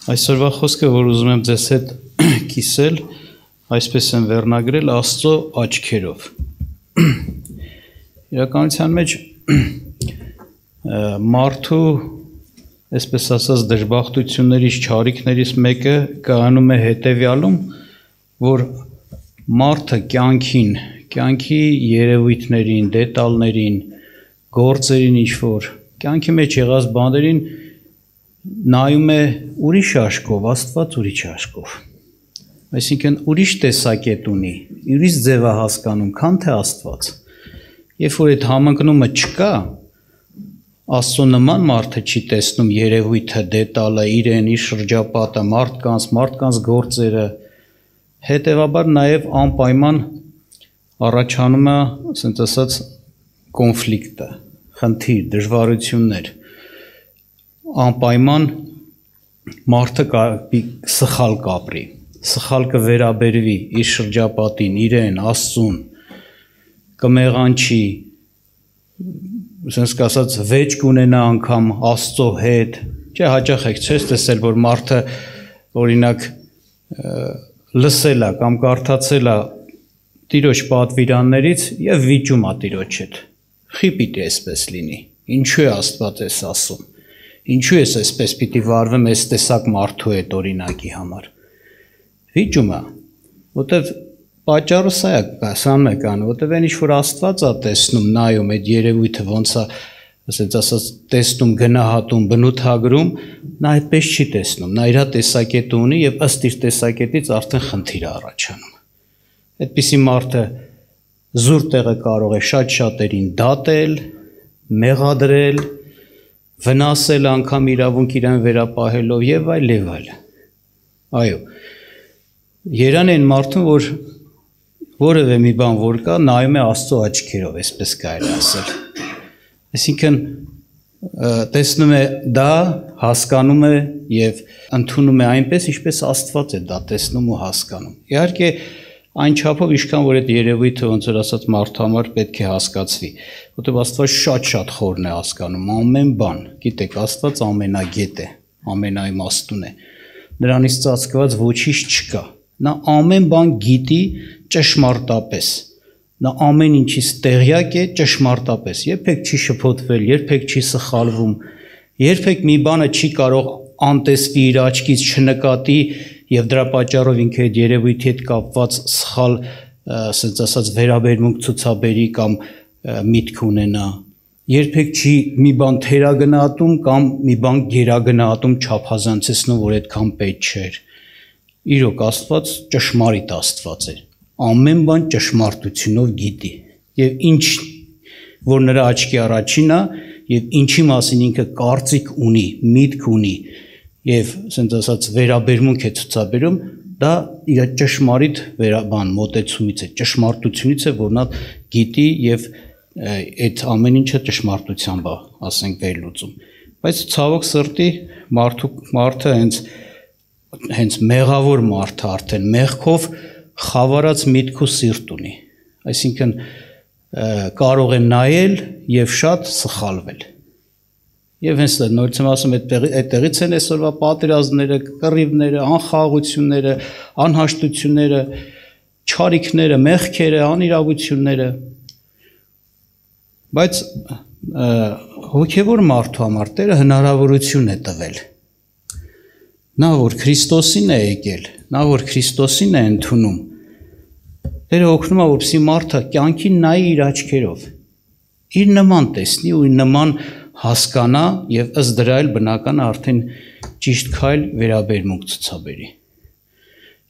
Այսօրվա խոսքը, որ ուզում եմ ձեզ հետ կիսել, այսպես եմ վերնագրել Աստծո աչքերով։ Իրականության մեջ մարդու, այսպես ասած, դժբախտություններից, չարիքներից մեկը կայանում է հետևյալում, որ մարդը կյանքի երևույթներին, դետալներին, գործերին ինչ-որ, կյանքի մեջ եղած բաներին նայում է ուրիշ աշկով, Աստված ուրիշ աշկով։ Այսինքն ուրիշ տեսակետ ունի, ուրիշ ձև է հասկանում, քան թե Աստված։ Երբ որ այդ համընկնումը չկա, Աստծո նման մարդը չի տեսնում երևույթը, դետալը, իրեն, իր շրջապատը, մարդկանց գործերը, հետևաբար նաև անպայման առաջանում է, ասենք ասած, կոնֆլիկտը, խնդիր, դժվարություններ, անպայման մարդը սխալ կապրի, սխալ կվերաբերվի իր շրջապատին, իրեն, Աստծուն, կմեղանչի, ասենք ասած, վեճ կունենա անգամ Աստծո հետ, չէ, հաճախ եք չես տեսել, որ մարդը օրինակ լսել է կամ կարդացել է Տիրոջ պատվիրաններից եւ վիճում է Տիրոջ հետ։ Խի պիտի այսպես լինի։ Ինչու է Աստված էս ասում։ Ինչու ես այսպես պիտի վարվեմ այս տեսակ մարդու հետ օրինակի համար։ Վիճում է, որտեվ պատճառը սա է կան, որտեվ այն ինչ որ Աստված է տեսնում, նայում այդ երևույթը ոնց է, ասած ասած, տեսնում, գնահատում, բնութագրում, նա այդպես չի տեսնում, նա իր տեսակետը ունի եւ ըստ իր տեսակետից արդեն խնդիր է առաջանում։ Այդպիսի մարդը զուր տեղը կարող է շատ շատերին դատել, մեղադրել, վնասել անգամ իրավունք իրեն վերապահելով եւ այլ եւ այլ։ Այո։ Երան են մարդուն, որ որևէ մի բան որ կա, նայում է Աստծո աչքերով, այսպես կարելի ասել։ Այսինքն տեսնում է դա, հասկանում է եւ ընդունում է այնպես, ինչպես Աստված է դա տեսնում ու հասկանում։ Իհարկե այն չափով ինչքան որ այդ երևույթը ոնց որ ասած մարդու համար պետք է հասկացվի, որտեղ Աստված շատ խորն է հասկանում ամեն բան։ Գիտեք, Աստված ամենագետ է, ամենաիմաստուն է։ Նրանից ծածկված ոչինչ չկա։ Նա ամեն բան գիտի ճշմարտապես։ Նա ամեն ինչից տեղյակ է ճշմարտապես։ Երբեք չի շփոթվել, երբեք չի սխալվում, երբեք մի բանը չի կարող անտեսվի իր աչքից չնկատի եւ դրա պատճառով ինքը այդ երևույթի հետ կապված սխալ, ասած ասած, վերաբերմունք ցուցաբերի կամ միտք ունենա։ Երբեք չի մի բան թերագնահատում կամ մի բան գերագնահատում, չափազանցեցնում, որ այդքան պետք չէր։ Իրոք Աստված ճշմարիտ Աստված է։ Ամեն բան ճշմարտությունով գիտի։ Եվ ինչ որ նրա աչքի առաջին է, եւ ինչի մասին ինքը կարծիք ունի, միտք ունի, եւ ասենց ասած վերաբերմունք է ցուցաբերում, դա իր ճշմարիտ մոտեցումից է, ճշմարտությունից է, որ նա գիտի եւ այդ ամեն ինչը ճշմարտությամբ է, ասենք, վերլուծում։ Բայց ցավոք սրտի մարդը հենց մեղավոր մարդը արդեն մեղքով խավարած միտք ու սիրտ ունի, այսինքն կարող է նայել եւ շատ սխալվել։ Եվ հենց նորից եմ ասում, այդտեղից են այսօրվա պատերազմները, կռիվները, անխաղաղությունները, անհաշտությունները, չարիքները, մեղքերը, անիրավությունները։ Բայց հոգևոր մարդու համար Տերը հնարավորություն է տվել։ Նա որ Քրիստոսին է եկել, նա որ Քրիստոսին է ընդունում, Տերը օգնում է, որպեսզի մարդը կյանքին նայի իր աչքերով, իր նման տեսնի ու իր նման հասկանա եւ ըստ դրա էլ բնական արդեն ճիշտ քայլ վերաբերմունք ցուցաբերի։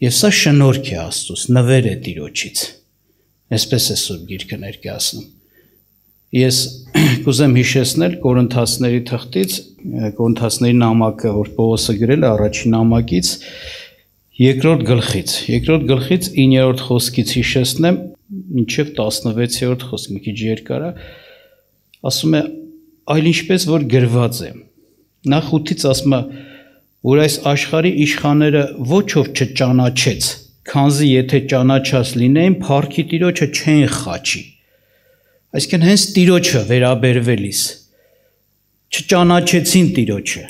Եվ սա շնորհք է Աստծուց, նվեր է Տիրոջից։ Այսպես է Սուրբ Գիրքը ներկայացնում։ Ես կուզեմ հիշեցնել Կորինթացիների թղթից, Կորինթացիների նամակը, որ Պողոսը գրել է առաջին նամակից, երկրորդ գլխից 9-րդ խոսքից հիշեցնեմ, մինչև 16-րդ խոսք, մի քիչ երկար է, ասում է, այլ ինչպես որ գրված է։ Նախ 8-ից ասում է, որ այս աշխարհի իշխանները ոչ ով չճանաչեց, քանզի եթե ճանաչած լինեին, փառքի Տիրոջը չեն խաչի։ Այսինքն հենց Տիրոջը վերաբերվելիս չճանաչեցին Տիրոջը։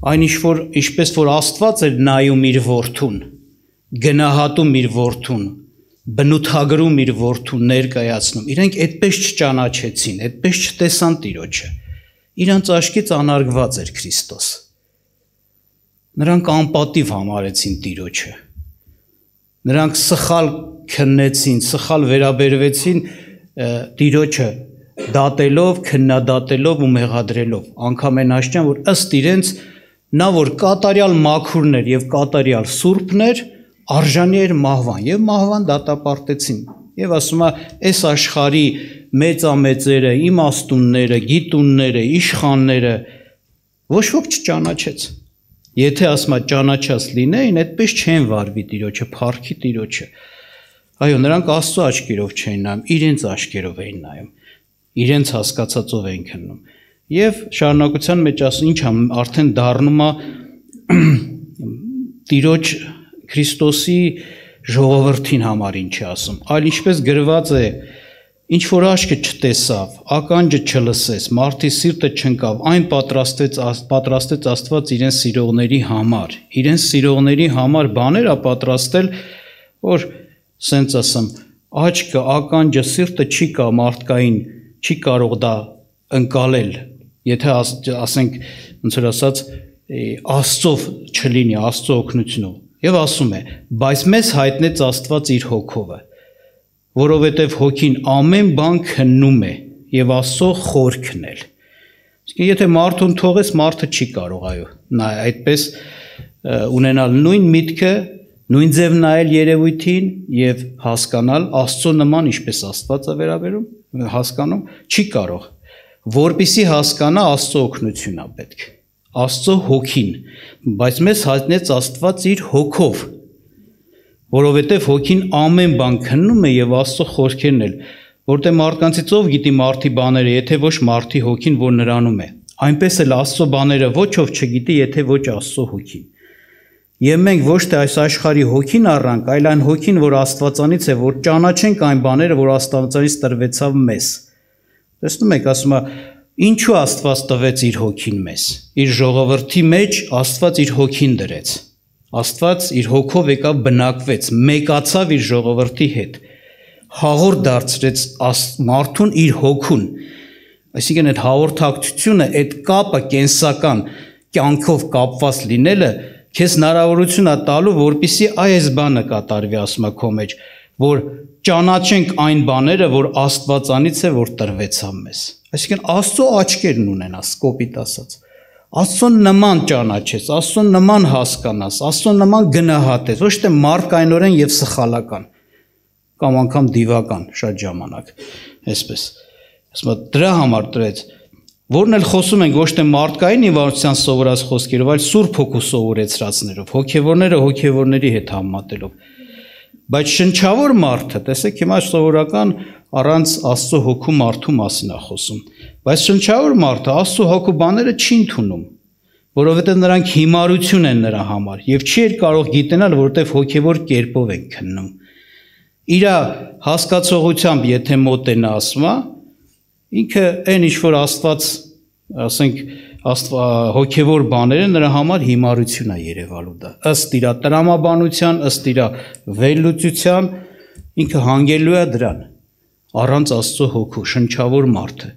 Այն ինչպես որ Աստված էր նայում իր որդուն, գնահատում իր որդուն, բնութագրում իր որդուն ներկայացնում, իրենք այդպես չճանաչեցին, այդպես չտեսան Տիրոջը, իրանց աչքից անարգված էր Քրիստոս, նրանք անպատիվ համարեցին Տիրոջը, նրանք սխալ քննեցին, սխալ վերաբերվեցին Տիրոջը դատելով, քննադատելով ու մեղադրելով, անգամ այն աշճան, որ ըստ իրենց նա որ կատարյալ մաքուրներ եւ կատարյալ սուրբներ, արժանի էր մահվան եւ մահվան դատապարտեցին եւ ասում է այս աշխարհի մեծամեծերը, իմաստունները, գիտունները, իշխանները ոչ ոք չճանաչեց։ Եթե ասում է ճանաչած լինեին, այդպես չեն վարվի Տիրոջը, փառքի Տիրոջը։ Այո, նրանք Աստծո աչքերով չեն նայում, իրենց աչքերով էին նայում, իրենց հասկացածով էին քննում։ Եվ շարունակության մեջ ասում, ինչ արդեն դառնում է Տիրոջ Քրիստոսի ժողովրդին համար ինչ է ասում, այլ ինչպես գրված է, ինչ որ աչքը չտեսավ, ականջը չլսեց, մարդի սիրտը չընկավ, այն պատրաստեց Աստված իրեն սիրողների համար բաներ է պատրաստել, որ սենց ասեմ, աչքը, ականջը, սիրտը չի կա մարդկային, չի կարող դա ընկալել, եթե ասենք, ոնց որ ասած, Աստծով չլինի, Աստծո օգնությունով։ Եվ ասում է, բայց մեզ հայտնեց Աստված իր հոգովը, որովհետև հոգին ամեն բան քննում է եւ Աստծո խորքն էլ։ Իսկ եթե մարդուն թողես, մարդը չի կարող, այո, նա այդպես ունենալ նույն միտքը, նույն ձև նայել երևույթին եւ հասկանալ Աստծո նման, ինչպես Աստված է վերաբերում, հասկանում, չի կարող, որպեսզի հասկանա Աստծո օգնությունն է պետք։ Աստծո հոգին, բայց մեզ հայտնեց Աստված իր հոգով, որովհետև հոգին ամեն բան քննում է եւ Աստծո խորքերն էլ, որտեղ մարդկանցից ով գիտի մարդի բաները, եթե ոչ մարդի հոգին, որ նրանում է, այնպես էլ Աստծո բաները ոչ ով չգիտի, եթե ոչ Աստծո հոգին։ Եվ մենք ոչ թե այս աշխարհի հոգին առանք, այլ այն հոգին, որ Աստվածանից է, որ ճանաչենք այն բաները, որ Աստվածանից տրվեցավ մեզ։ Տեսնում եք, ասում է, ինչու Աստված տվեց իր հոգին մեզ։ Իր ժողովրդի մեջ Աստված իր հոգին դրեց։ Աստված իր հոգով եկավ բնակվեց, մեկացավ իր ժողովրդի հետ, հաղորդ դարձրեց մարդուն իր հոգուն, այսինքն այդ հաղորդակցությունը, այդ կապը կենսական կյանքով կապված լինելը քեզ հնարավորություն է տալու, որպեսզի այս բանը կատարվի, ասում է քո մեջ, որ ճանաչենք այն բաները, որ Աստվածանից է, որ տրվեցավ մեզ։ Այսինքն Աստծո աչքերն ունենաս, կոպիտ ասած։ Աստծո նման ճանաչես, Աստծո նման հասկանաս, Աստծո նման գնահատես, ոչ թե մարդկայնորեն եւ սխալական կամ անգամ դիվական շատ ժամանակ, այսպես։ Ասում եմ, դրա համար տրեց, որն էլ խոսում ենք ոչ թե մարդկային իվարության սովորած խոսքերով, այլ Սուրբ Հոգու սովորեցրածներով, հոգևորները հոգևորների հետ համատելով։ Բայց շնչավոր մարդը, տեսեք, հիմա սովորական առանց Աստծո հոգու մարդու մասին է խոսում, բայց շնչավոր մարդը Աստծո հոգու բաները չի ընդունում, որովհետև նրանք հիմարություն են նրա համար եւ չի կարող գիտենալ, որովհետև հոգևոր կերպով են քննում։ Իր հասկացողությամբ, եթե մոտենա ասում է, ինքը այն ինչ որ Աստված, ասենք, հոգևոր բաները նրա համար հիմարություն է երևալու դա։ Ըստ իր տրամաբանության, ըստ իր վերլուծության ինքը հանգելու է դրան։ Առանց Աստծո հոգու շնչավոր մարդը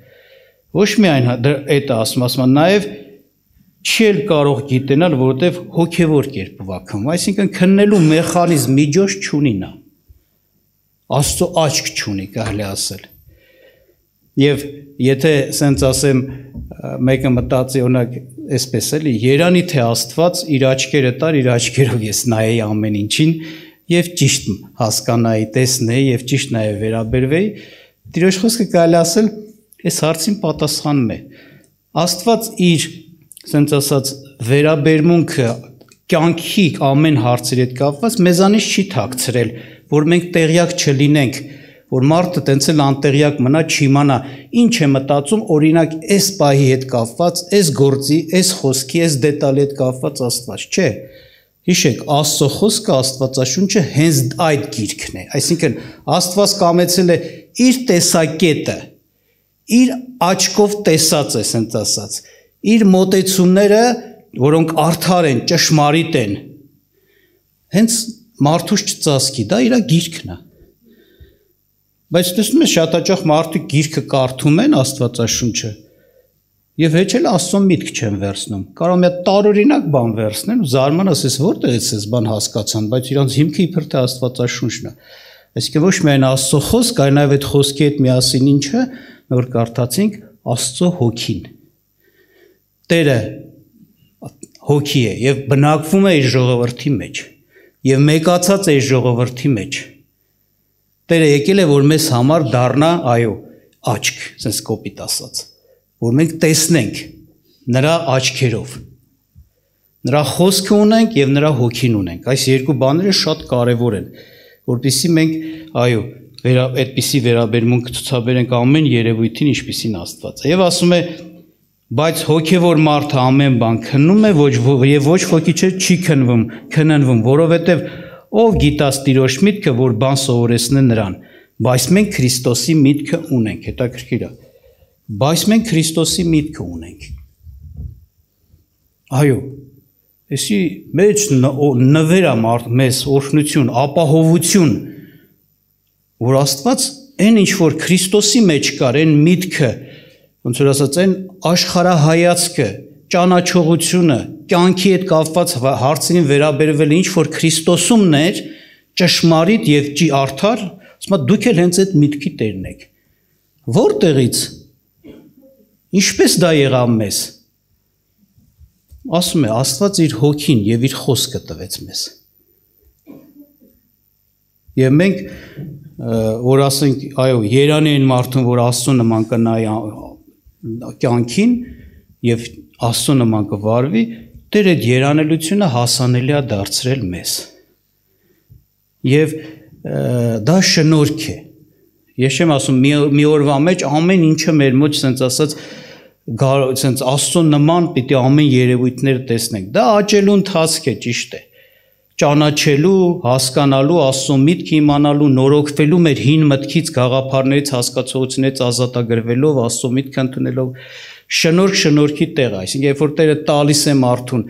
ոչ միայն այդ ասում նաև չի էլ կարող գիտենալ, որովհետև հոգևոր կերպով է քննում, այսինքն քննելու մեխանիզմ միջոց չունի նա։ Աստծո աչք չունի, կարելի ասել։ Եվ եթե սենց ասեմ, մեկը մտածի օրինակ այսպես էլի, երանի թե Աստված իր աչքերը տար, իր աչքերով ես նայեի ամեն ինչին եւ ճիշտ հասկանայի, տեսնեի եւ ճիշտ նաեւ վերաբերվեի, Տիրոջ խոսքը կարելի ասել, այս հարցին պատասխանում է։ Աստված իր, ասենց ասած, վերաբերմունքը կյանքի ամեն հարցերի հետ կապված մեզանից չի թաքցրել, որ մենք տեղյակ չլինենք, որ մարդը տենց էլ անտեղյակ մնա, չիմանա ինչ է մտածում, օրինակ այս պահի հետ կապված, այս գործի, այս խոսքի, այս դետալի հետ կապված Աստված, չէ։ Հիշեք, Աստծո խոսքը, Աստվածաշունչը հենց այդ գիրքն է, այսինքն Աստված կամեցել է իր տեսակետը, իր աչքով տեսած է, ասենց ասած, իր մոտեցումները որոնք արդար են, ճշմարիտ են, հենց մարդուց չծածկի, դա իր գիրքն է։ Բայց տեսնում ես շատ հաճախ մարդիկ գիրքը կարդում են Աստվածաշունչը եւ հեչ էլ Աստծո միտք չեն վերցնում։ Կարող մի հատ տարօրինակ բան վերցնեն ու զարմանաս, ես որտեղից էս բան հասկացան, բայց իրանց հիմքը իբր թե Աստվածաշունչն է։ Այսինքն ոչ միայն Աստծո խոսք, այլ նաեւ այդ խոսքի հետ միասին ինչը, որ կարդացինք, Աստծո հոգին։ Տերը հոգի է եւ բնակվում է իր ժողովրդի մեջ եւ մեկացած է իր ժողովրդի մեջ։ Տերը եկել է, որ մեզ համար դառնա, այո, աչք, ասես կոպիտ ասած, որ մենք տեսնենք նրա աչքերով։ Նրա խոսքը ունենք եւ նրա հոգին ունենք։ Այս երկու բաները շատ կարեւոր են, որպեսզի մենք, այո, այդպիսի վերաբերմունք ցուցաբերենք ամեն երևույթին, ինչպիսին Աստված է։ Եվ ասում է, բայց հոգևոր մարդը ամեն բան քննում է, եւ ոչ ոքի չի քննվում, որովհետեւ ով գիտաս Տիրոջ միտքը, որ բան սովորեցնե նրան, բայց մենք Քրիստոսի միտքը ունենք, հետաքրքիր է։ Բայց մենք Քրիստոսի միտքը ունենք։ Այո, էսի մեջ նվերա մեզ օրհնություն, ապահովություն, որ Աստված այն ինչ որ Քրիստոսի մեջ կար, այն միտքը, ոնց որ ասած են աշխարհայացքը, ճանաչողությունը, կյանքի հետ կապված հարցերին վերաբերվել ինչ որ Քրիստոսումն էր, ճշմարիտ եւ արդար, ասում եմ դուք էլ հենց այդ միտքի տերն եք։ Որտեղից? Ինչպես դա եղավ մեզ։ Ասում է Աստված իր հոգին եւ իր խոսքը տվեց մեզ։ Եվ մենք որ ասենք, այո, երանի են մարդուն, որ Աստծո նման կնայի կյանքին եւ Աստծո նման կվարվի, Տեր այդ երանելությունը հասանելի է դարձրել մեզ։ Եվ դա շնորհք է։ Ես չեմ ասում մի օրվա մեջ ամեն ինչը մեր մոտ sense ասած sense Աստծո նման պիտի ամեն երևույթները տեսնենք։ Դա աճելու ընթացք է, ճիշտ է։ Ճանաչելու, հասկանալու, Աստծո միտքը իմանալու, նորոգվելու մեր հին մտքից, գաղափարներից, հասկացություններից ազատագրվելով, Աստծո միտքը ընդունելով, շնորհքի տեղ, այսինքն երբ որ Տերը տալիս է մարդուն,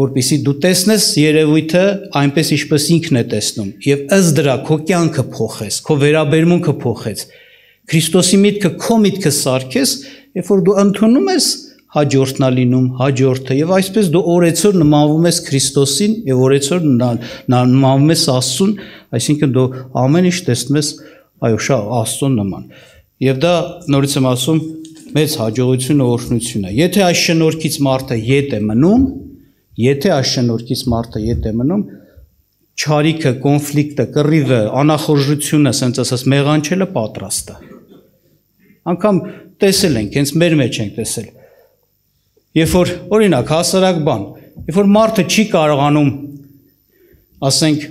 որպեսզի դու տեսնես երևույթը այնպես ինչպես ինքն է տեսնում, եւ ըստ դրա քո կյանքը փոխես, քո վերաբերմունքը փոխես, Քրիստոսի միտքը քո միտքը սարքես, երբ որ դու ընդունում ես, հաջորդն է լինում, հաջորդը, եւ այսպես դու օրեցօր նմանվում ես Քրիստոսին եւ օրեցօր նմանվում ես Աստծուն, այսինքն դու ամեն ինչ տեսնում ես, այո, Աստծուն նման։ Եվ դա նորից եմ ասում, մեծ հաջողությունը, օրհնություն է։ Եթե այս շնորհքից մարդը ետ է մնում, չարիքը, կոնֆլիկտը, կռիվը, անախորժությունը, ասենց ասած, մեղանչելը պատրաստ է։ Անկամ տեսել ենք, հենց մեր մեջ ենք տեսել։ Երբ որ օրինակ հասարակ բան, երբ որ մարդը չի կարողանում, ասենք,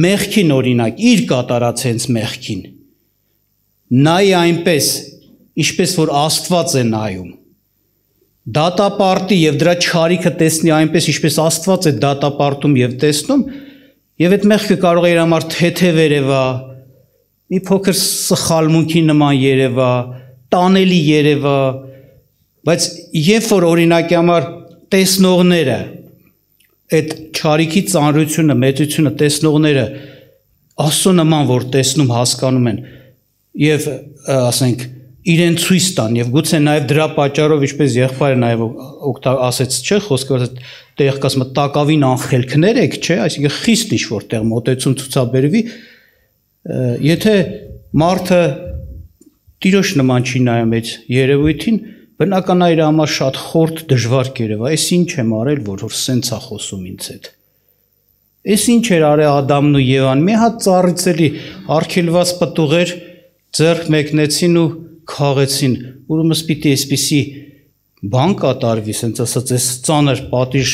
մեղքին օրինակ, իր կատարած հենց մեղքին, նայի այնպես, ինչպես որ Աստված է նայում, դատապարտի եւ դրա չարիքը տեսնի այնպես, ինչպես Աստված է դատապարտում եւ տեսնում, եւ այդ մեղքը կարող է իր համար թեթև երևա, մի փոքր սխալմունքի նման երևա, տանելի երևա, բայց երբ որ օրինակի համար տեսնողները այդ չարիքի ծանրությունը, մեծությունը տեսնողները Աստծո նման որ տեսնում, հասկանում են եւ ասենք իրեն ցույց տան եւ գուցե նաեւ դրա պատճառով ինչպես եղբայրը նաեւ ասեց, չէ, խոսքը տեղ կասում տակավին անխելքներ եք, չէ, այսինքն խիստ ինչ որտեղ մոտեցում ցուցաբերվի, եթե մարդը Տիրոջ նման չի նայում այդ երևույթին, բնական է իր համար շատ խորտ դժվար կերևա, այս ինչ եմ արել, որ սենց է խոսում ինձ հետ։ Այս ինչ էր արել Ադամն ու Եվան, մի հատ ծառից էլի արգելված պտուղեր ձեռք մեկնեցին ու քաղեցին, ուրեմն պիտի այսպիսի բան կատարվի, ասենց ասած, այս ծանր պատիժ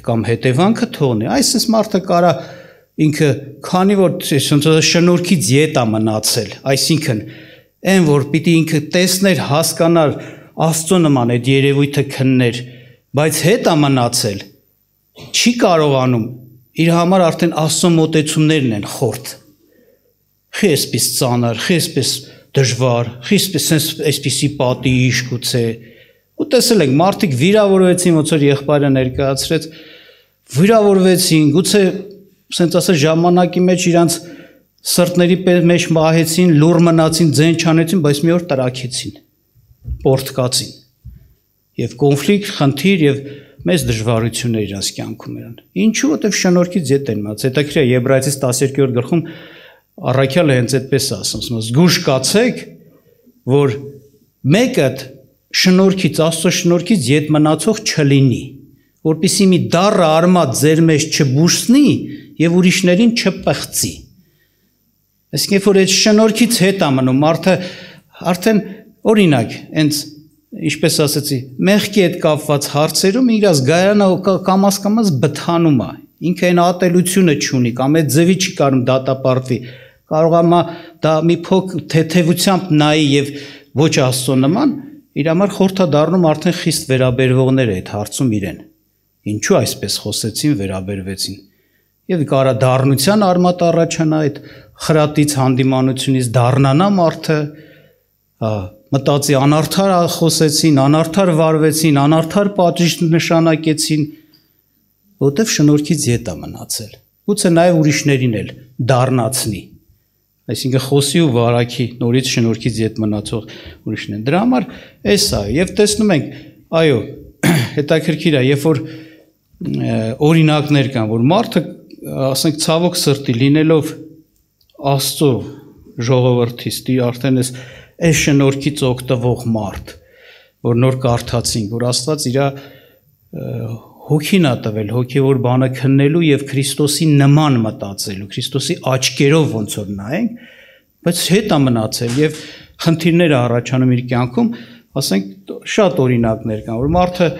կամ հետևանքը թողնի, այսպես մարդը կարա ինքը քանի որ շնորհքից ետ է մնացել, այսինքն այն որ պիտի ինքը տեսներ, հասկանար Աստծո նման այդ երևույթը քններ, բայց հետ է մնացել, չի կարողանում, իր համար արդեն Աստծո մոտեցումներն են խորտ, խի այսպես ծանր, խի այսպես դժվար, խի այսպիսի պատիժ գուցե, Ու տեսել ենք մարդիկ վիրավորվեցին, ոնց որ եղբայրը ներկայացրեց, վիրավորվեցին, գուցե ասենց ասած ժամանակի մեջ իրանց սրտների մեջ մահեցին, լուր մնացին, ձեն չանեցին, բայց մի օր տրաքեցին, պորտկացին։ Եվ կոնֆլիկտ, խնդիր եւ մեծ դժվարություններ իրանց կյանքում eran։ Ինչու՞, որտեվ շնորհքից ետ են մած։ Հետաքրքիր է Եբրայեցիս 12-րդ գլխում առաքյալը հենց այդպես ասում, զգուշ կացեք, որ մեկը շնորհքից, Աստծո շնորհքից ետ մնացող չլինի, որպեսզի մի դառը արմատ ձեր մեջ չբուժնի եւ ուրիշներին չպղծի։ Այսինքն, որ այդ շնորհքից հետ է մնում, մարդը արդեն օրինակ, հենց ինչպես ասեցի, մեղքի հետ կապված հարցերում իր զգայանը կամաց բթանում է, ինքը այն ատելությունը չունի, կամ այդ ձևի չի կարում դատապարտվի, կարող է դա մի փոքր թեթևությամբ նայի եւ ոչ Աստծո նման, իր համար խորհրդադառնում արդեն խիստ վերաբերվողներ է այդ հարցում իրեն։ Ինչու այսպես խոսեցին, վերաբերվեցին։ Եվ կարա դառնության արմատ առաջանա այդ խրատից հանդիմանությունից դառնանա մարդը, մտածի անարդար խոսեցին, անարդար վարվեցին, անարդար պատժիչ նշանակեցին, որտեվ շնորհքից ետ է մնացել։ Գուցե նաև ուրիշներին էլ դառնացնի։ Այսինքն խոսի ու վարակի նորից շնորհքից ետ մնացող ուրիշն են։ Դրա համար էս է, եւ տեսնում ենք, այո, հետաքրքիր է, երբ որ օրինակներ կան, որ մարդը, ասենք, ցավոք սրտի լինելով Աստծո ժողովրդից, արդեն այս շնորհքից օգտվող մարդ, որ նոր կարդացինք, որ Աստված իր հոգին է տվել, հոգևոր բանը քննելու եւ Քրիստոսի նման մտածելու, Քրիստոսի աչքերով ոնց որ նայենք, բայց հետ է մնացել եւ խնդիրներ առաջանում իր կյանքում, ասենք շատ օրինակներ կան, որ մարդը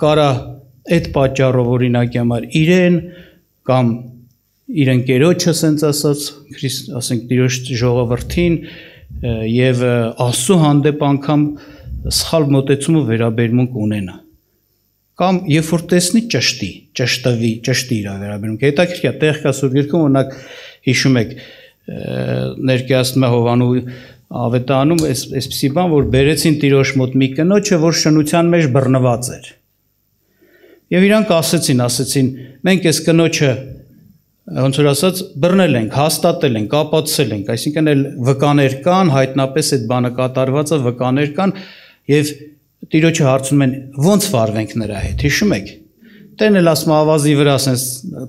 կարա այդ պատճառով օրինակի համար իրեն կամ իր ընկերոջը ասենց ասած, ասենք Տիրոջ ժողովրդին եւ Աստծո հանդեպ անգամ սխալ մոտեցում ու վերաբերմունք ունենա։ Կամ երբ որ տեսնի ճշտի իր վերաբերմունքը։ Հետաքրքիր է, տեղ կա Սուրբ Գրքում, օրինակ հիշում եք, ներկայացնում է Հովանու ավետարանում այսպիսի բան, որ բերեցին Տիրոջ մոտ մի կնոջը, որ շնության մեջ բռնված էր։ Եվ իրանք ասեցին, մենք այս կնոջը ոնց որ ասած բռնել ենք, հաստատել ենք, ապացուցել ենք, այսինքն էլ վկաներ կան, հայտնապես այդ բանը կատարված է, վկաներ կան եւ Տիրոջը հարցնում են ո՞նց վարվենք նրա հետ, հիշում եք։ Տերն էլ ասում ավազի վրա ասես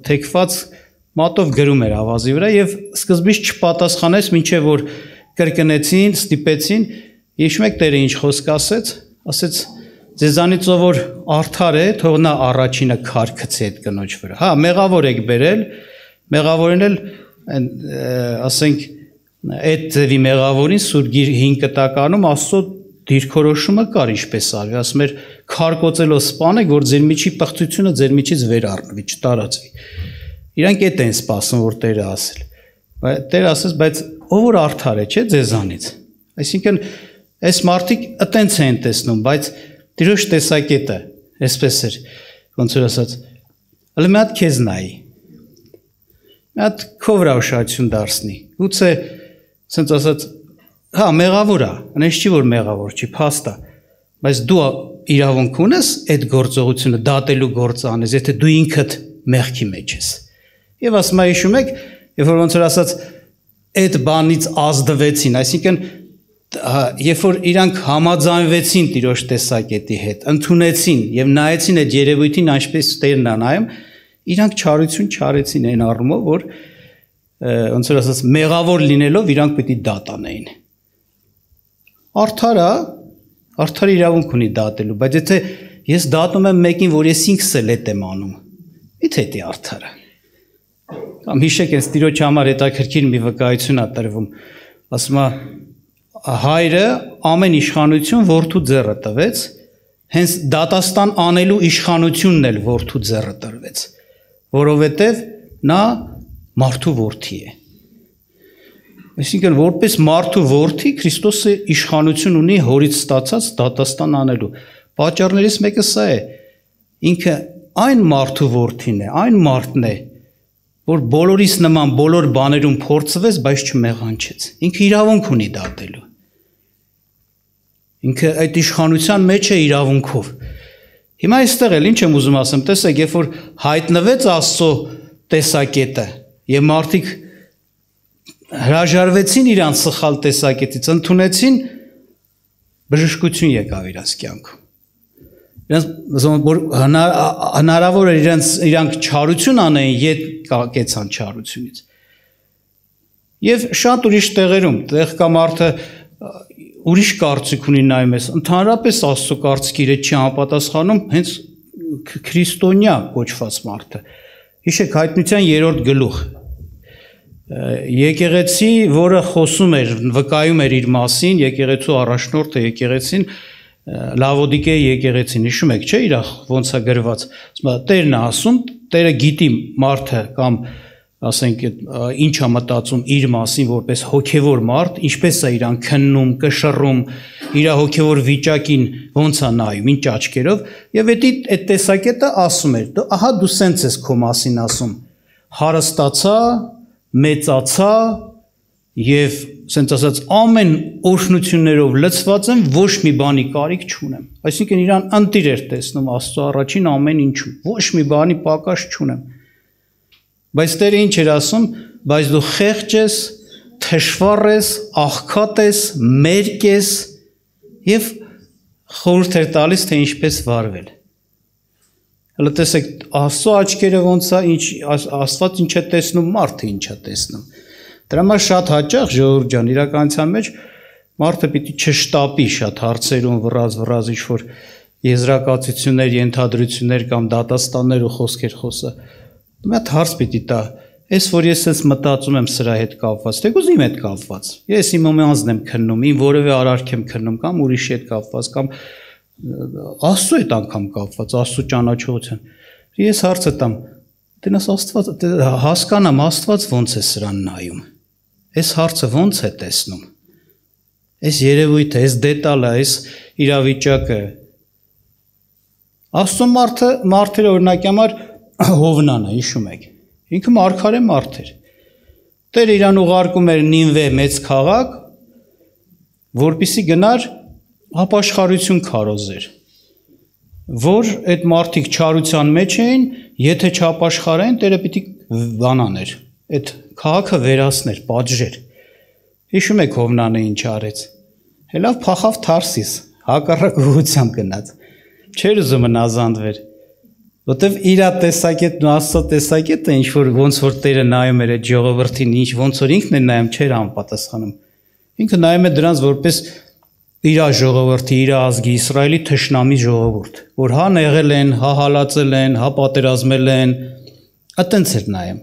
թեքված մատով գրում էր ավազի վրա եւ սկզբից չպատասխանեց, մինչեւ որ կրկնեցին, ստիպեցին, հիշում եք Տերը ինչ խոսք ասեց, ձեզանից ով որ արդար է, թող նա առաջինը քար գցի այդ կնոջ վրա։ Հա, մեղավոր եք բերել, մեղավորին էլ ասենք այդ ձևի մեղավորին Սուրբ 5 կտականում Աստծո դիրքորոշումը կար ինչպես արվի, ասում էր քարկոծելով սպանեք, որ ձեր միջի պղծությունը ձեր միջից վեր առնվի, չտարածվի։ Իրանք այդ են սպասում, որ Տերը ասել։ Տերը ասեց, բայց ով որ արդար է, չէ, ձեզանից։ Այսինքն այս մարդիկ այտենց են տեսնում, բայց Տիրոջ տեսակետը այսպես էր, ոնց որ ասած, հələ մի հատ քեզ նայի։ Մի հատ քո վրա ուշադրություն դարձնի։ Գուցե ասենց ասած հա, մեղավոր է, այնպես չի որ մեղավոր չի, փաստ է, բայց դու իրավունք ունես այդ գործողությունը դատելու գործ անես, եթե դու ինքդ մեղքի մեջ ես։ Եվ ասում եմ, հիշում եք, երբ որ ոնց որ ասած այդ բանից ազդվեցին, այսինքն երբ որ իրանք համաձայնվեցին Տիրոջ տեսակետի հետ, ընդունեցին եւ նայեցին այդ երևույթին, այնպես Տերն է նայում, իրանք չարություն չարեցին այն առումով, որ ոնց որ ասած մեղավոր լինելով իրանք պիտի դատանեին։ Արդար իրավունք ունի դատելու, բայց եթե ես դատում եմ մեկին, որ ես ինքս էլ էդ եմ անում, ի՞թե դա արդարը։ Կամ հիշեք, այս Տիրոջ համար հետաքրքիր մի վկայություն է տրվում, ասում է հայրը ամեն իշխանություն որդու ձեռը տվեց, հենց դատաստան անելու իշխանությունն էլ որդու ձեռը տրվեց, որովհետև նա մարդու որդի է։ Այսինքն որպես մարդու որդի Քրիստոսը իշխանություն ունի հորից ստացած դատաստան անելու։ Պատճառներից մեկը սա է, ինքը այն մարդու որդին է, այն մարդն է, որ բոլորիս նման բոլոր բաներում փորձվեց, բայց չմեղանչեց։ Ինքը իրավունք ունի դատելու։ Ինքը այդ իշխանության մեջ է իրավունքով։ Հիմա այստեղ էլ ինչ եմ ուզում ասեմ, տեսեք, երբ որ հայտնվեց Աստծո տեսակետը եւ մարդիկ հրաժարվեցին իրանց սխալ տեսակետից, ընդունեցին, բժշկություն եկավ իրանց կյանքում։ Իրանց հնարավոր էր իրանք չարություն անեին, ետ կեցան չարությունից։ Եվ շատ ուրիշ տեղերում, տեղ կա մարդը ուրիշ կարծիք ունի նայում ես, ընդհանրապես Աստծո կարծիքի հետ չի համապատասխանում հենց քրիստոնյա կոչված մարդը։ Հիշեք հայտնության 3-րդ գլուխ։ Եկեղեցի, որը խոսում էր, վկայում էր իր մասին, եկեղեցու առաջնորդը եկեղեցին, Լավոդիկեի եկեղեցին, հիշում եք, չէ՞, իր ոնց է գրված։ Տերն է ասում, Տերը գիտի մարդը կամ ասենք ինչ է մտածում իր մասին որպես հոգևոր մարդ, ինչպես է իրան քննում, կշռում, իր հոգևոր վիճակին ոնց է նայում, ինչ աչքերով, եւ այդ տեսակետը ասում էր, ահա դու սենց ես քո մասին ասում, հարստացա, մեծացա եւ սենց ասած ամեն օրհնություններով լցված եմ, ոչ մի բանի կարիք չունեմ։ Այսինքն իրան ընտիր էր տեսնում Աստծո առաջին ամեն ինչում, ոչ մի բանի պակաս չունեմ։ Բայց Տերը ինչ էր ասում, բայց դու խեղճ ես, թշվառ ես, աղքատ ես, մերկ ես եւ խորհուրդ էր տալիս թե ինչպես վարվել։ Հələ տեսեք, Աստծո աչքերը ոնց է, Աստված ինչ է տեսնում, մարդը ինչ է տեսնում։ Դրա համար շատ հաճախ ժողովուրդ ջան, իրականության մեջ մարդը պիտի չշտապի շատ հարցերում վռազ ինչ-որ եզրակացություններ, ենթադրություններ կամ դատաստաններ ու խոսքեր խոսա։ Մի հատ հարց պիտի տա, այս որ ես ես մտածում եմ սրա հետ կապված, թեկուզ իմ հետ կապված։ Ես իմ ոմանձն եմ քննում, իմ որևէ արարք եմ քննում կամ ուրիշի հետ կապված կամ Աստծո հետ անգամ կապված, Աստծո ճանաչողության։ Ես հարցը տամ, տենաս Աստված հասկանամ, Աստված ոնց է սրան նայում։ Այս հարցը ոնց է տեսնում։ Այս երևույթը, այս դետալը, այս իրավիճակը։ Աստծո մարդերը օրինակ համար Հովնանը, հիշում եք։ Ինքը մարգարե մարդ էր։ Տերը իրան ուղարկում էր Նինվե մեծ քաղաք, որպեսզի գնար ապաշխարություն քարոզեր, որ այդ մարդիկ չարության մեջ էին, եթե չապաշխարեն, Տերը պիտի բանաներ, այդ քաղաքը վերացներ, պատժեր։ Հիշում եք Հովնանը ինչ արեց։ Հելավ փախավ Թարսիս, հակառակ ուղղությամբ գնաց։ Չէր ուզում հնազանդվեր, որտեվ իր տեսակետն ու Աստծո տեսակետը ինչ որ ոնց որ Տերը նայում էր այդ ժողովրդին, ինչ ոնց որ ինքն է նայում, չէր համապատասխանում։ Ինքը նայում է դրանց որպես իր ժողովրդի, իր ազգի, Իսրայելի թշնամի ժողովուրդ, որ հա եղել են, հա հալածել են, հա պատերազմել են, այտենց էր նայում։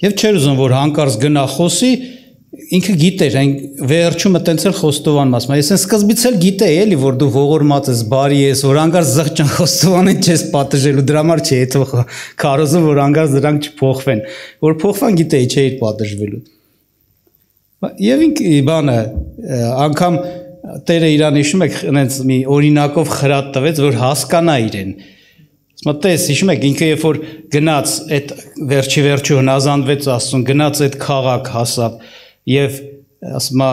Եվ չէր ուզում որ հանկարծ գնա խոսի, ինքը գիտեր, այն վերջումը տենց էլ խոստովանում ասում, ես սկզբից էլ գիտեի էլի, որ դու ողորմած ես, բարի ես, որ հանկարծ զղջան խոստովանեն չես պատժելու, դրա համար չի հետո քարոզում, որ հանկարծ դրանք չփոխվեն, որ փոխվան գիտեի չէի պատժվելու։ Եվ ինքը բանը անգամ Տերը իրան հիշում եք, այնց մի օրինակով խրատ տվեց, որ հասկանա իրեն։ Մտես, հիշում եք, ինքը երբ որ գնաց այդ վերջի հնազանդվեց Աստծուն, գնաց այդ քաղաք հասավ եւ ասում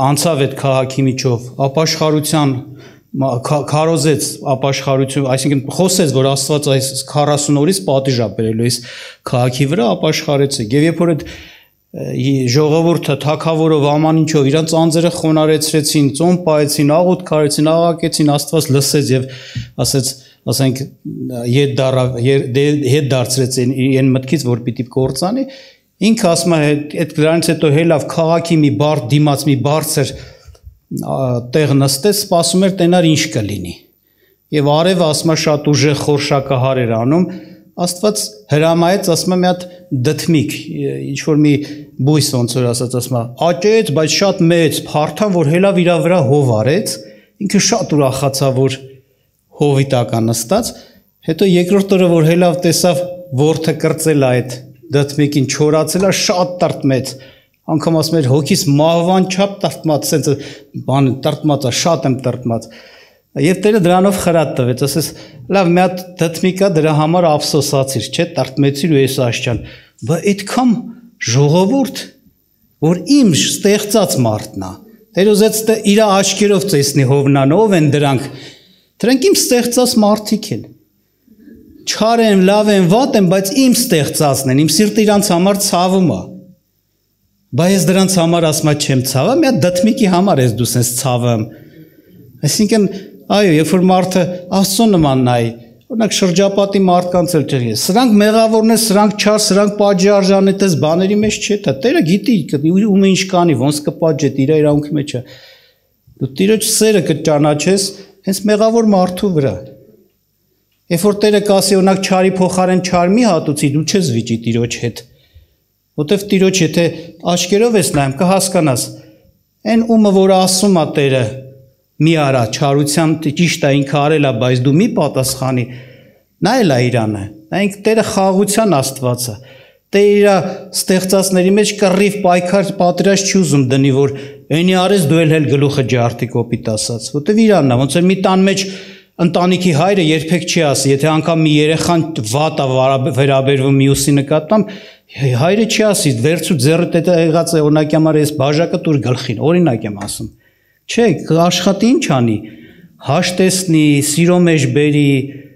անցավ այդ քաղաքի միջով, ապաշխարության քարոզեց ապաշխարություն, այսինքն խոսեց, որ Աստված այս 40 օրից պատիժ է բերելու այս քաղաքի վրա ապաշխարեց։ Եվ երբ որ այդ ժողովուրդը թագավորով աման ինչով իրանց անձերը խոնարեցրեցին, ծոմ պահեցին, աղոթ քարեցին, աղակեցին, Աստված լսեց եւ ասեց, ասենք հետ դարձրեց այն մտքից, որ պիտի կործանի, ինքը ասում է այդ դրանից հետո հելավ քաղաքի մի բարդ դիմաց մի բարձր տեղ նստեց, սպասում էր տենար ինչ կլինի։ Եվ արևը ասում է շատ ուժեղ խորշակահար էր անում, Աստված հրամայեց, ասում է մի հատ դդմիկ, ինչ որ մի բույս ոնց որ ասած, ասում է աճեց, բայց շատ մեծ, փարթան, որ հելավ իր վրա հով արեց, ինքը շատ ուրախացավ, որ հովի տակ նստած, հետո երկրորդ օրը որ հելավ տեսավ որդը կրծել է այդ դդմիկին, չորացել է, շատ տրտմեց, անգամ ասում էր հոգիս մահվան չափ տրտմած, սենց բան տրտմած է, շատ եմ տրտմած։ Եվ Տերը դրանով խրատ տվեց, ասես լավ մի հատ դդմիկա դրա համար ափսոսացիր, չէ, տրտմեցիր ու ես աշճան, բայց այդքան ժողովուրդ, որ իմ ստեղծած մարդն է, Տեր ուզեց իր աչքերով տեսնի Հովնան, ով են դրանք։ Դրանք իմ ստեղծած մարդիկ են։ Չար են, լավ են, վատ են, բայց իմ ստեղծածն են, իմ սիրտը իրանց համար ցավում է։ Բայց ես դրանց համար ասում չեմ ցավը, մի հատ դդմիկի համար ես դու sense ցավեմ։ Այսինքն, այո, երբ որ մարդը Աստծո նման նայի, օրինակ շրջապատի մարդկանց էլ ճղի։ Սրանք մեղավորն են, սրանք չար, սրանք պատժարժան են, այդպես բաների մեջ չէ, դա Տերը գիտի ում ինչ կանի, ոնց կպատժի, իր իրավունքի մեջ է։ Դու Տիրոջ սերը կճանաչես հենց մեղավոր մարդու վրա։ Երբ որ Տերը կասի, օրինակ չարի փոխարեն չար մի հատուցի, դու չես վիճի Տիրոջ հետ։ Որտեվ Տիրոջ եթե աչքերով ես նայում, կհասկանաս, այն ումը որ ասում է Տերը, մի արա, չարության ճիշտ է ինքը արել է, բայց դու մի պատասխանի, նա էլ է Իրանը, նա ինքը Տերը խաղաղության Աստված է, Տերը իր ստեղծածների մեջ կռիվ պայքար պատրաստ չի ուզում դնի, որ այնի արես դու էլ գլուխը ջարդի կոպիտ ասած, որտեվ Իրանն է, ոնց որ մի տան մեջ ընտանիքի հայրը երբեք չի ասի, եթե անգամ մի երեխան վատ է վերաբերվում մյուսի նկատմամբ, հայրը չի ասի, վերցու ձեռդ դա եղած է, օրինակ համար ես բաժակը տուր գլխին, օրինակ եմ ասում։ Չէ, աշխատի ինչ անի, հաշտեսնի, սիրո մեջ բերի,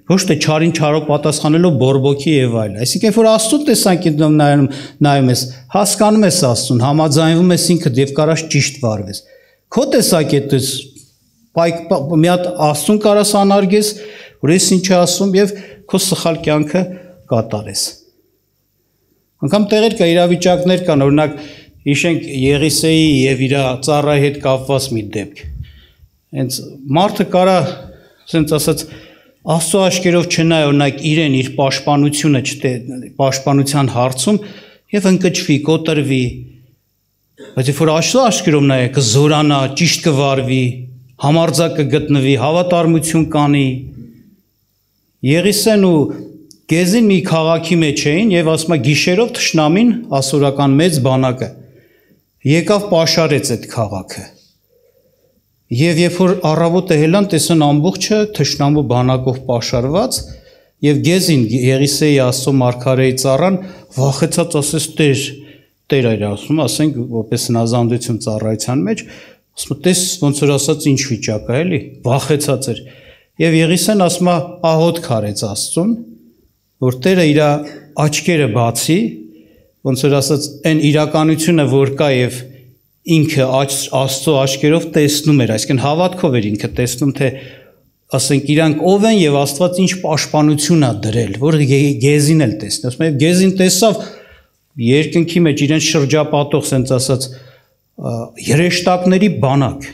ոչ թե չարին չարով պատասխանելով բորբոքի եւ այլ։ Այսինքն, որ Աստծո տեսանկյունով նայում ես, հասկանում ես Աստծուն, համաձայնվում ես ինքդ եւ կարաս ճիշտ վարվես։ Քո տեսակետից մի հատ Աստծուն կարաս անարգես, որ ես ինչ ասում եւ քո սխալ կյանքը կատարես։ Անկամ տեղեր կա իրավիճակներ կան, օրինակ հիշենք Եղիսեի եւ իր ծառայի հետ կապված մի դեպք։ Հենց մարդը կարա, ասենց ասած, Աստծո աչքերով չնայ օրինակ իրեն իր պաշտպանությունը պաշտպանության հարցում եւ ընկճվի, կոտրվի։ Բայց երբ որ Աստծո աչքերով նայ, կզորանա, ճիշտ կվարվի, համարձակ կգտնվի, հավատարմություն կանի։ Եղիսեն ու Գեզին մի քաղաքի մեջ էին եւ ասում է գիշերով թշնամին ասորական մեծ բանակը եկավ պաշարեց այդ քաղաքը։ Եվ երբ որ առավոտը հելան տեսան ամբողջը թշնամու բանակով պաշարված եւ Գեզին Եղիսեի Աստծո մարգարեի ծառան վախեցած ասես Տեր էր ասում, ասենք որպես հնազանդություն ծառայության մեջ, ասում տես ոնց որ ասած ինչ վիճակ է էլի, վախեցած էր։ Եվ Եղիսեն ասում ահոտ քարեց Աստծուն, որ Տերը իր աչքերը բացի, ոնց որ ասած այն իրականությունը որ կա եւ ինքը Աստծո աչքերով տեսնում էր, այսինքն հավատքով էր ինքը տեսնում թե ասենք իրանք ով են եւ Աստված ինչ պաշտպանություն է դրել, որ Գեզին էլ տեսնի, ասում է Գեզին տեսավ երկնքի մեջ իրեն շրջապատող sense ասած երեշտակների բանակ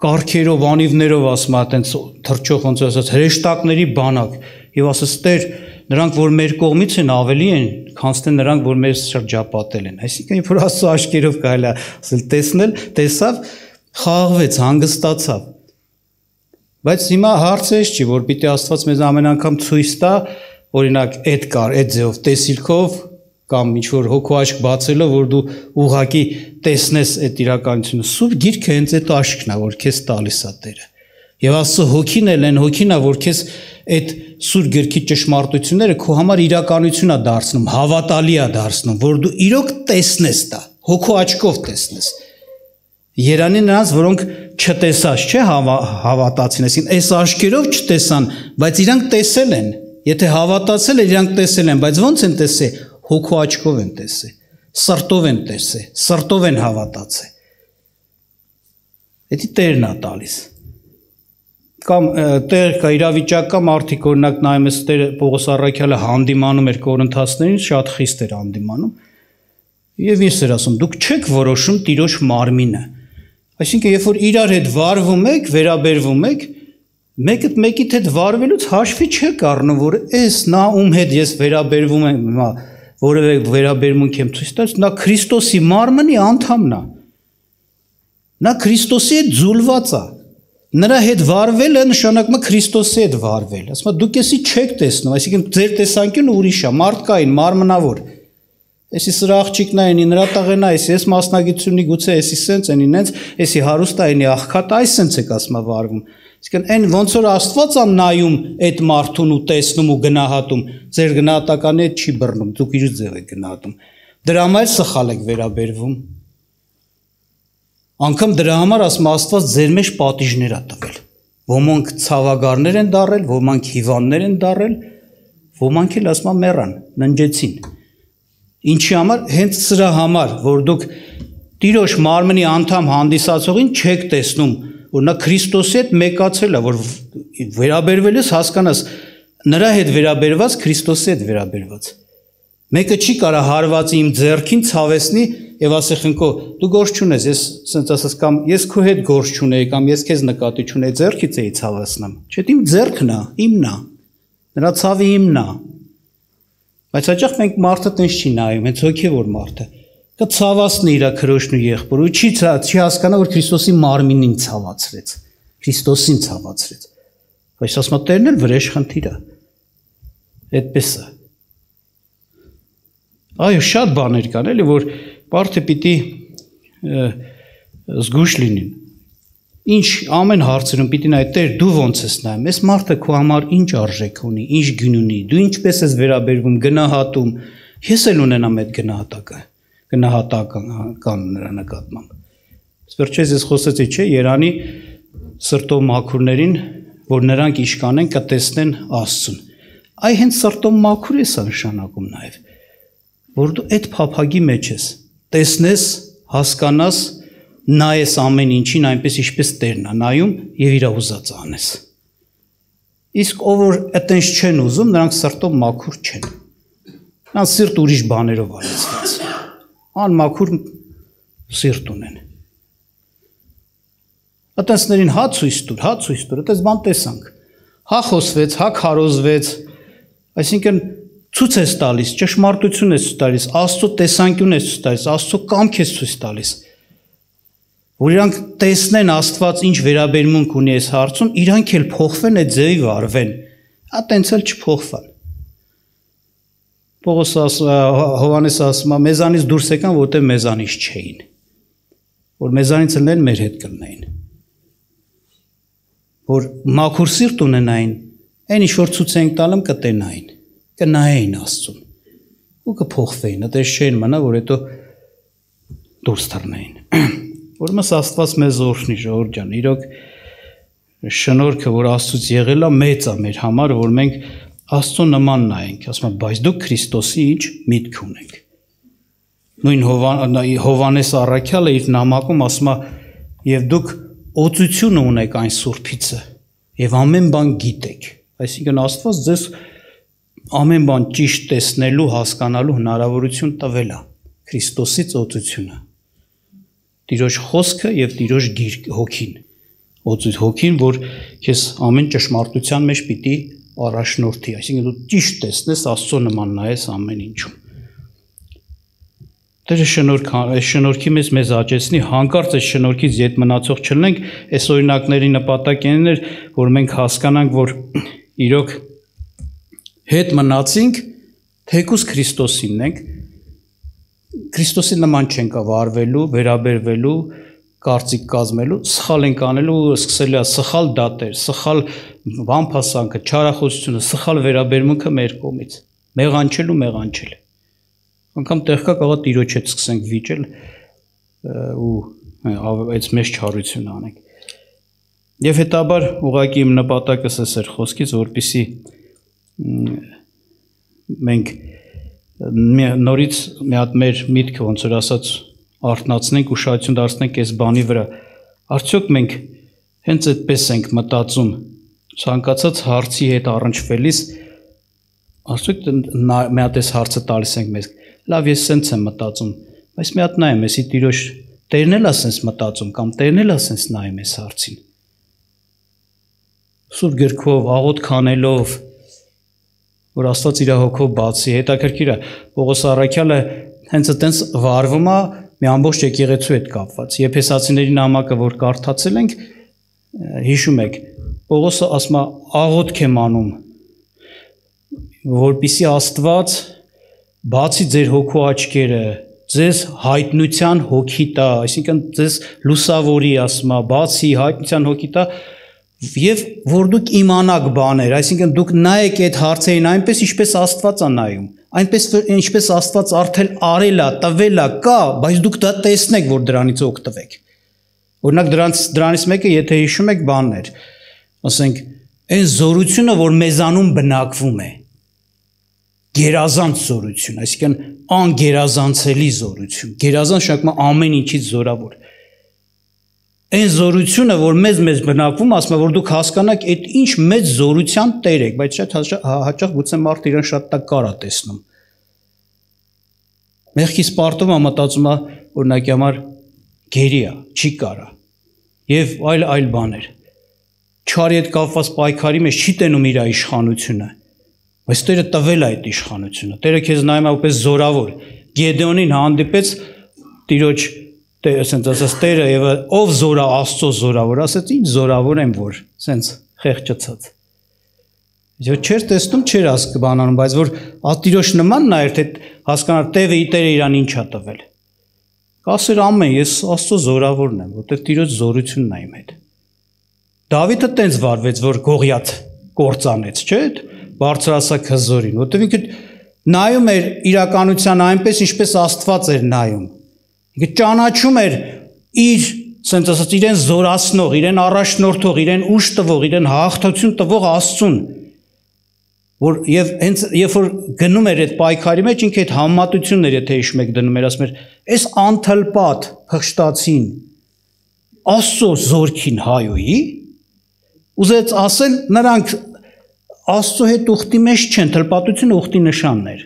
կարգերով անիվներով ասում է այտենց թրջող ոնց ասած հրեշտակների բանակ եւ ասես Տեր նրանք որ մեր կողմից են ավելի են քան թե նրանք որ մեզ շրջապատել են այսինքն երբ որ Աստծո աչքերով կարելի է ասել տեսնել տեսավ խաղաղվեց հանգստացավ բայց հիմա հարցը չի որ պիտի Աստված մեզ ամեն անգամ ցույց տա օրինակ այդ ձեով տեսիլքով կամ ինչ որ հոգու աչք բացելով որ դու ուղակի տեսնես այդ իրականությունը սուրբ գիրքը հենց այդ աչքն է որ քեզ տալիս է Տերը եւ Աստծո հոգին էլ են հոգին է որ քեզ այդ սուրբ գրքի ճշմարտությունները քո համար իրականություն է դարձնում հավատալի է դարձնում որ դու իրոք տեսնես դա հոգու աչքով տեսնես Երանի նրանց որոնք չտեսած չէ հավատացին այսինքն այս աչքերով չտեսան բայց իրանք տեսել են եթե հավատացել են իրանք տեսել են բայց ոնց են տեսել հոգու աչքով են տեսել, սրտով են տեսել, սրտով են հավատացել։ Դա Տերն է տալիս։ Կամ Տեր կա իրավիճակ կա մարդիկ օրինակ նայում ես Տեր Պողոս առաքյալը հանդիմանում էր Կորինթացներին, շատ խիստ էր հանդիմանում։ Եվ ես էր ասում, դուք չեք որոշում Տիրոջ մարմինը։ Այսինքն երբ որ իրար հետ վարվում եք, վերաբերվում եք, մեկի հետ վարվելուց հաշվի չեք առնում, որ էս նա ում հետ ես վերաբերվում եմ, հիմա որևէ վերաբերմունք եմ ցույց տալիս, նա Քրիստոսի մարմնի անդամն է։ Նա Քրիստոսի հետ ձուլված է։ Նրա հետ վարվելը նշանակում է Քրիստոսի հետ վարվել։ Ասում է դուք էսի չեք տեսնում, այսինքն ձեր տեսանկյունը ուրիշ է, մարդկային, մարմնավոր։ Էսի սրա աղջիկն է, ինի նրա տաղենա, էս մասնագիտությունի գուցե էսի սենց են ինենց, էսի հարուստ է, ինի աղքատ, այս սենց եք ասում է վարվում։ Այսինքն այն ոնց որ Աստված է նայում այդ մարդուն ու տեսնում ու գնահատում, ձեր գնահատականի հետ չի բռնում, դուք իր ձև եք գնահատում։ Դրա համար սխալ եք վերաբերվում։ Անկամ դրա համար ասում Աստված ձեր մեջ պատիժներ ա տվել։ Ոմանք ցավագարներ են դարել, ոմանք հիվանդներ են դարել, ոմանք էլ ասում մեռան, ննջեցին։ Ինչի համար, հենց սրա համար, որ դուք Տիրոջ մարմնի անդամ հանդիսացողին չեք տեսնում, որ նա Քրիստոսի հետ մեկացել է, որ վերաբերվել ես հասկանաս նրա հետ վերաբերված, Քրիստոսի հետ վերաբերված։ Մեկը չի կարա հարվածի իմ ձեռքին ցավեսնի եւ ասի խնկո դու գործ չունես, ես ասենց ասած կամ ես քո հետ գործ չունեի կամ ես քեզ նկատի չունեի, ձեռքից էի ցավեսնամ։ Չէ՞ իմ ձեռքն է, իմն է։ Նրա ցավը իմն է։ Բայց հաճախ մենք մարդը տենց չի նայում, հենց հոգևոր մարդը։ Կցավացնի իր քրոջն ու եղբորը, ու չի հասկանա, որ Քրիստոսի մարմինին ցավացրեց, Քրիստոսին ցավացրեց։ Բայց ասում Տերն էլ վրեժ խնդիր է։ Այդպես է։ Այո, շատ բաներ կան, էլի, որ մարդը պիտի զգույշ լինին։ Ինչ ամեն հարցերում պիտի նայ Տեր դու ոնց ես նայում, այս մարդը քո համար ինչ արժեք ունի, ինչ գին ունի, դու ինչպես ես վերաբերվում, գնահատում, ես էլ ունենամ այդ գնահատական նրա նկատմամբ։ Վերջերս ես խոսեցի, չէ, Երանի սրտով մաքուրներին, որ նրանք իշքան են կտեսնեն Աստծուն։ Այ հենց սրտով մաքուր ես նշանակում նաև, որ դու այդ փափագի մեջ ես, տեսնես, հասկանաս, նայես ամեն ինչին այնպես ինչպես Տերն է նայում եւ իր ուզածը անես։ Իսկ ով որ այտենց չեն ուզում, նրանք սրտով մաքուր չեն։ Նրանք սիրտ ուրիշ բաներով արեցված։ Անմաքուր սիրտ ունեն։ Այտենցներին հա ցույց տուր, այտենց բան տեսանք։ Հա խոսվեց, հա քարոզվեց, այսինքն ցույց ես տալիս, ճշմարտություն ես տալիս, Աստծո տեսանկյուն ես տալիս, Աստծո կամք ես ցույց տալիս։ Որ իրանք տեսնեն Աստված ինչ վերաբերմունք ունի այս հարցում, իրանք էլ փոխվեն այդ ձևի վարվեն։ Այտենց էլ չփոխվան։ Հովհաննես ասում է, մեզանից դուրս եկան, որտեղ մեզանից չէին։ Որ մեզանից ելնեն մեր հետ կլնեին։ Որ մաքուր սիրտ ունենային, այն ինչ որ ցույց ենք տալում կտենային, կնայեին Աստծուն։ Ու կփոխվեին, այդպես չէին մնա, որ հետո դուրս թռնեին։ Որմս Աստված մեզ օրհնի, ժողովուրդ ջան, իրոք շնորհքը, որ Աստծուց եղել է, մեծ է մեր համար, որ մենք Աստծո նման նայենք, ասում եմ, բայց դուք Քրիստոսի ինչ միտք ունեք։ Նույն Հովհաննես առաքյալը իր նամակում ասում է, եւ դուք օծությունը ունեք այն Սուրբիցը, եւ ամեն բան գիտեք։ Այսինքն Աստված ձեզ ամեն բան ճիշտ տեսնելու, հասկանալու հնարավորություն տվել է, Քրիստոսից օծությունը։ Տիրոջ խոսքը եւ Տիրոջ հոգին, հոգին, որ քեզ ամեն ճշմարտության մեջ պիտի առաջնորդի, այսինքն դու ճիշտ տեսնես, Աստծո նման նայես ամեն ինչում։ Տերը շնորհքի մեզ աճեցնի, հանկարծ այս շնորհքից ետ մնացող չլինենք, այս օրինակների նպատակն էր, որ մենք հասկանանք, որ իրոք հետ մնացինք, թեկուզ Քրիստոսինն ենք, Քրիստոսի նման չենք վարվելու, վերաբերվելու, կարծիք կազմելու, սխալ ենք անելու, սկսել է սխալ դատեր, սխալ վամփասանքը, չարախոսությունը, սխալ վերաբերմունքը մեր կողմից, մեղանչել։ Անկամ տեղքա կարող Տիրոջ հետ սկսենք վիճել ու այդ մեծ չարություն անենք։ Եվ հետաբար ուղղակի իմ նպատակս էր խոսքից, որպեսզի մենք նորից մի հատ մեր միտքը ոնց որ ասած արթնացնենք, ուշադրություն դարձնենք այս բանի վրա։ Արդյոք մենք հենց այդպես ենք մտածում ցանկացած հարցի հետ առնչվելիս, արդյոք մի հատ այս հարցը տալիս ենք մեզ։ Լավ, ես սենց եմ մտածում, բայց մի հատ նայեմ, էսի Տիրոջ Տերն էլ ասենց մտածում կամ Տերն էլ ասենց նայում այս հարցին։ Սուրբ գրքով, աղոթք անելով, որ Աստված իր հոգով բացի, հետաքրքիր է, Պողոս առաքյալը հենց այտենց վարվում է մի ամբողջ եկեղեցու հետ կապված։ Եփեսացիների նամակը, որ կարդացել ենք, հիշում եք, Պողոսը ասում է, աղոթք եմ անում, որպեսզի Աստված բացի ձեր հոգու աչքերը, ձեզ հայտնության հոգի տա, այսինքն ձեզ լուսավորի, ասում է, բացի հայտնության հոգի տա, եւ որ դուք իմանաք բաներ, այսինքն դուք նայեք այդ հարցերին այնպես ինչպես Աստված է նայում, այնպես ինչպես Աստված արդեն արել է, տվել է, կա, բայց դուք դա տեսնեք, որ դրանից օգտվեք։ Օրինակ դրանից մեկը, եթե հիշում եք, բանն էր, ասենք, այն զորությունը, որ մեզանում բնակվում է, գերազանց զորություն, այսինքն անգերազանցելի զորություն, գերազանց շակմա ամեն ինչից զորավոր։ Այն զորությունը, որ մեզ բնակվում, ասում է, որ դուք հասկանաք, այդ ինչ մեծ զորության տեր եք, բայց շատ հաճախ գուցե մարդը իրեն շատ տակար է տեսնում։ Մեղքի սպարտում մտածում է, օրինակի համար գերի է, չի կարա, եւ այլ բաներ։ Չարի հետ կապված պայքարի մեջ չի տենում իր իշխանությունը, բայց Տերը տվել է այդ իշխանությունը։ Տերը քեզ նայում է որպես զորավոր։ Գեդեոնին հանդիպեց Տիրոջ, ասենց ասած Տերը եւ ով զորա Աստծո զորավոր, ասեց ինչ զորավոր եմ որ, ասենց խեղճացած։ Եվ չէր տեսնում, չէր բանանում, բայց որ Տիրոջ նմանն է, թե հասկանար Տերը իրան ինչ է տվել։ Կասեր ամեն, ես Աստծո զորավորն եմ, որտեղ Տիրոջ զորությունն է իմ հետ։ Դավիթը տենց վարվեց, որ Գողիաթ կործանեց, չէ՞, բարձրացակ հզորին, որտեղ ինքը նայում էր իրականության այնպես, ինչպես Աստված էր նայում։ Ինքը ճանաչում էր իր, ասենց ասած, իրեն զորացնող, իրեն առաջնորդող, իրեն ուժ տվող, իրեն հաղթություն տվող Աստծուն։ Որ եւ հենց երբ որ գնում էր այդ պայքարի մեջ, ինքը այդ համատությունն էր, եթե հիշում եք, դնում էր, ասում էր, «Էս անթլպատ փղշտացին Աստծո զորքին հայոյի», ուզեց ասել, նրանք Աստծո հետ ուխտի մեջ չեն, թլպատությունը ուխտի նշանն էր։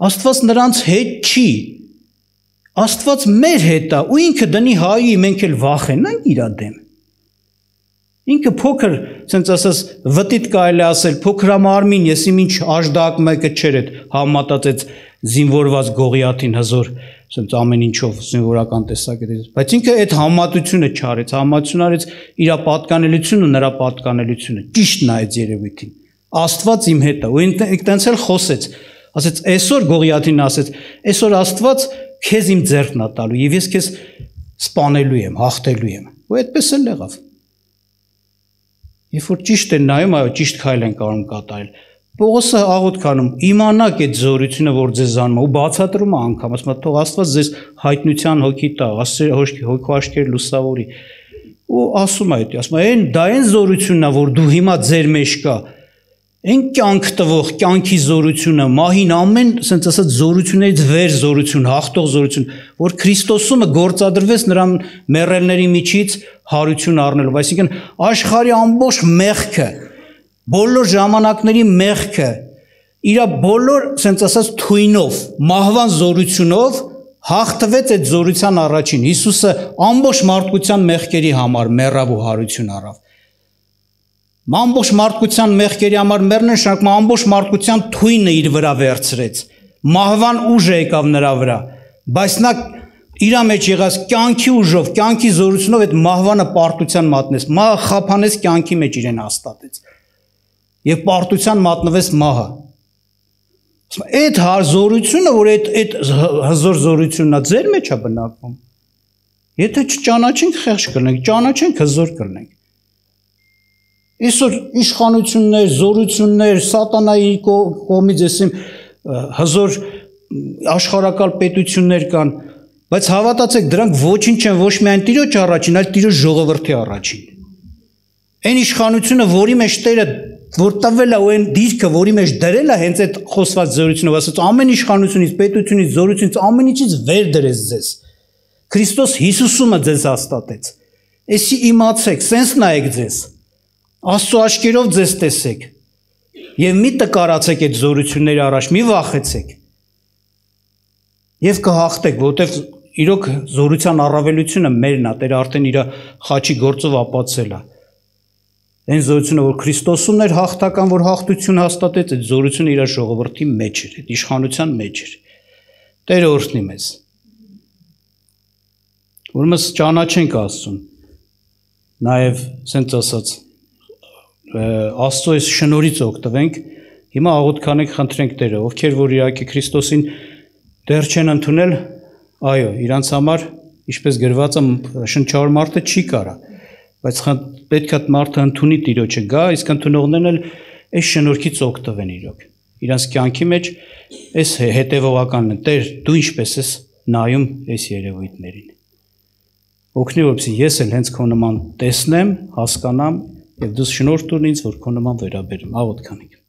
Աստված նրանց հետ չի։ Աստված մեր հետ է, ու ինքը դնի հայոյի, մենք էլ վախենանք իր դեմ։ Ինքը փոքր, ասենց ասած, վտիտ կարելի ասել, փոքրամարմին, ես իմ ինչ աժդակ մեկը չէր այդ համատած այդ զինվորված Գողիաթին հզոր, ասենց ամեն ինչով զինվորական տեսակետից, բայց ինքը այդ համատությունը չարեց, համատություն արեց իր պատկանելությունը, նրա պատկանելությունը, ճիշտն է այդ երևույթին։ Աստված իմ հետ է, ու ինքնից էլ խոսեց, ասեց, այսօր Գողիաթին ասեց, այսօր Աստված քեզ իմ ձեռքն է տալու, եւ ես քեզ սպանելու եմ, հաղթելու եմ, ու այդպես էլ եղավ։ Երբ որ ճիշտ են նայում, այո, ճիշտ քայլ են կարող կատարել։ Պողոսը աղոթք անում, իմանաք այդ զորությունը, որ ձեզ անում է, ու բացատրում է անգամ, ասում է, թող Աստված ձեզ հայտնության հոգի տա, հոգու աչքեր լուսավորի։ Ու ասում է, ասում է, դա այն զորությունն է, որ դու հիմա ձեր մեջ կա, այն կյանք տվող, կյանքի զորությունը, մահին ամեն, ասենց ասած, զորություններից վեր զորություն, հաղթող զորություն, որ Քրիստոսումը գործադրվեց նրան մեռելների միջից հարություն առնելով, այսինքն աշխարհի ամբողջ մեղքը, բոլոր ժամանակների մեղքը, իր բոլոր, ասենց ասած, թույնով, մահվան զորությունով հաղթվեց այդ զորության առաջին։ Հիսուսը ամբողջ մարդկության մեղքերի համար մեռավ ու հարություն առավ։ Ամբողջ մարդկության մեղքերի համար մեռնեն շարքում ամբողջ մարդկության թույնը իր վրա վերցրեց։ Մահվան ուժը եկավ նրա վրա, բայց նա իր մեջ եղած կյանքի ուժով, կյանքի զորությունով այդ մահվանը պարտության մատնեց։ Մահը խափանեց կյանքի մեջ իրեն հաստատեց։ Եվ պարտության մատնվեց մահը։ Այդ զորությունը, որ այդ հզոր զորությունն է, ձեր մեջ է բնակվում։ Եթե չճանաչենք, խեղճ կլինենք, ճանաչենք, հզոր կլինենք։ Այսօր իշխանություններ, զորություններ, սատանայի կողմից այսիմ հզոր աշխարհակալ պետություններ կան, բայց հավատացեք, դրանք ոչինչ չեն, ոչ միայն Տիրոջ առաջին, այլ Տիրոջ ժողովրդի առաջին։ Այն իշխանությունը, որի մեջ Տերը որ տվել է ու այն դիրքը, որի մեջ դրել է հենց այդ խոսված զորությունով, ասած ամեն իշխանությունից, պետությունից, զորությունից, ամեն ինչից վեր դրեց ձեզ։ Քրիստոս Հիսուսումը ձեզ հաստատեց։ Էսի իմացեք, սենց նայեք ձեզ։ Աստծո աչքերով ձեզ տեսեք եւ մի տկարացեք այդ զորությունների առաջ, մի վախեցեք եւ կհաղթեք, որովհետեւ իրոք զորության առավելությունը մերն է, Տերը արդեն իր խաչի գործով ապացել է։ Այն զորությունը, որ Քրիստոսումն էր հաղթական, որ հաղթություն հաստատեց, այդ զորությունը իր ժողովրդի մեջ էր, այդ իշխանության մեջ էր։ Տերը օրհնի մեզ։ Ուրեմն ճանաչենք Աստծուն։ Նաեւ ասենց ասած Աստծո այս շնորհից օգտվենք, հիմա աղոթքանենք, խնդրենք Տերը, ովքեր որ իհարկե Քրիստոսին դեռ չեն ընդունել, այո, իրանց համար, ինչպես գրված է, շնչավոր մարդը չի կարա, բայց պետք է մարդը ընդունի Տիրոջը գա, իսկ ընդունողներն էլ այս շնորհքից օգտվեն իրոք։ Իրանց կյանքի մեջ այս հետևողականն է, Տեր, դու ինչպես ես նայում այս երևույթներին։ օգնի, որպեսզի ես էլ հենց քո նման տեսնեմ, հասկանամ եւ դու շնորհ տուր ինձ, որ քո նման վերաբերեմ։ Աղոթք անենք։